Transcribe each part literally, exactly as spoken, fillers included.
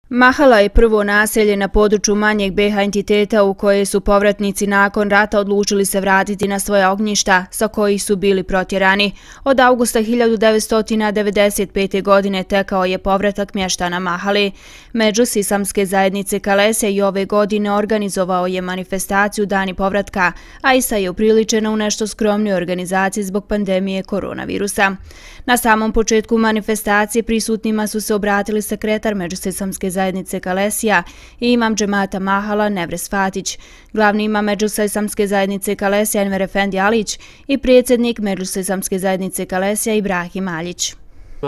Mahala je prvo naselje na području manjeg be ha entiteta u koje su povratnici nakon rata odlučili se vratiti na svoja ognjišta sa kojih su bili protjerani. Od avgusta hiljadu devetsto devedeset pete. godine tekao je povratak mještana Mahale. Međus Islamske zajednice Kalesija i ove godine organizovao je manifestaciju Dani povratka, a ista je upriličena u nešto skromnoj organizaciji zbog pandemije koronavirusa. Na samom početku manifestacije prisutnima su se obratili sekretar Međus Islamske zajednice Kalesija i imam džemata Mahala Nevres Fatić, glavni imam Međus Islamske zajednice Kalesija Enver Efendi Alić i predsjednik Međus Islamske zajednice Kalesija Ibrahim Aljić.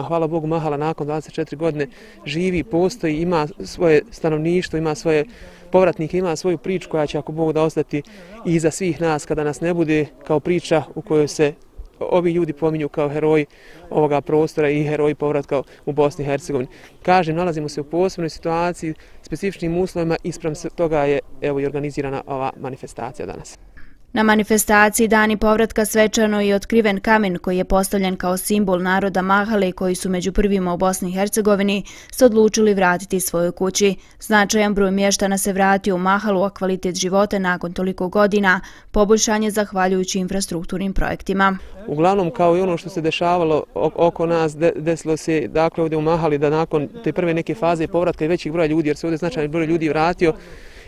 Hvala Bogu, Mahala nakon dvadeset četiri godine živi, postoji, ima svoje stanovništvo, ima svoje povratnike, ima svoju priču koja će, ako Bog da, ostati i iza svih nas kada nas ne bude, kao priča u kojoj se ovi ljudi pominju kao heroji ovoga prostora i heroji povratka u Bosni i Hercegovini. Kažem, nalazimo se u posebnoj situaciji, specifičnim uslovima i spram toga je evo i organizirana ova manifestacija danas. Na manifestaciji Dani povratka svečano je otkriven kamen koji je postavljen kao simbol naroda Mahale koji su među prvima u Bosni i Hercegovini se odlučili vratiti svojoj kući. Značajan broj mještana se vratio u Mahalu, a kvalitet života nakon toliko godina poboljšan je zahvaljujući infrastrukturnim projektima. Uglavnom, kao i ono što se dešavalo oko nas, desilo se dakle ovdje u Mahali da nakon te prve neke faze povratka i većih broja ljudi, jer se ovdje značajan broj ljudi vratio,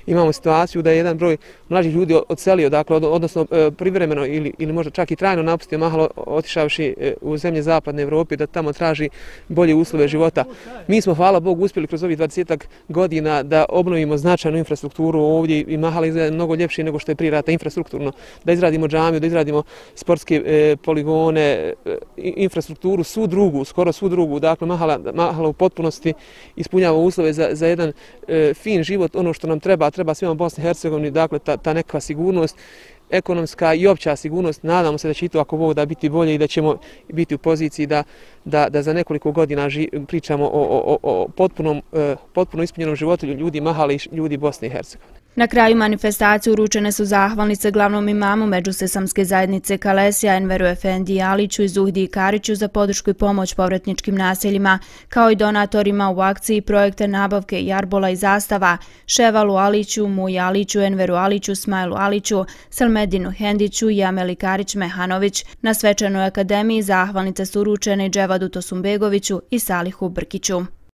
imamo situaciju da je jedan broj mlađih ljudi odselio, dakle, odnosno privremeno ili, ili možda čak i trajno napustio Mahalo, otišavši u zemlje zapadne Evrope da tamo traži bolje uslove života. Mi smo, hvala Bogu, uspjeli kroz ovih dvadesetak godina da obnovimo značajnu infrastrukturu ovdje i Mahala izgleda mnogo ljepše nego što je prije rata infrastrukturno, da izradimo džamiju, da izradimo sportske e, poligone, e, infrastrukturu, svu drugu, skoro svu drugu. Dakle, Mahala, Mahala u potpunosti ispunjava uslove za, za jedan e, fin život, ono što nam treba, treba svima Bosni i Hercegovini, dakle ta, ta neka sigurnost, ekonomska i opća sigurnost. Nadamo se da će i to, ako Bog da, biti bolje i da ćemo biti u poziciji da, da, da za nekoliko godina ži, pričamo o, o, o potpunom, potpuno ispunjenom životu ljudi Mahale i ljudi Bosne i Hercegovine. Na kraju manifestacije uručene su zahvalnice glavnom imamu Međus Islamske zajednice Kalesija Enveru Efendi Aliću i Zuhdi Kariću za podršku i pomoć povratničkim naseljima, kao i donatorima u akciji projekta nabavke jarbola i zastava Ševalu Aliću, Muji Aliću, Enveru Aliću, Smajlu Aliću, Selmedinu Hendiću i Ameli Karić Mehanović. Na svečanoj akademiji zahvalnice su uručene Dževadu Tosumbegoviću i Salihu Brkiću.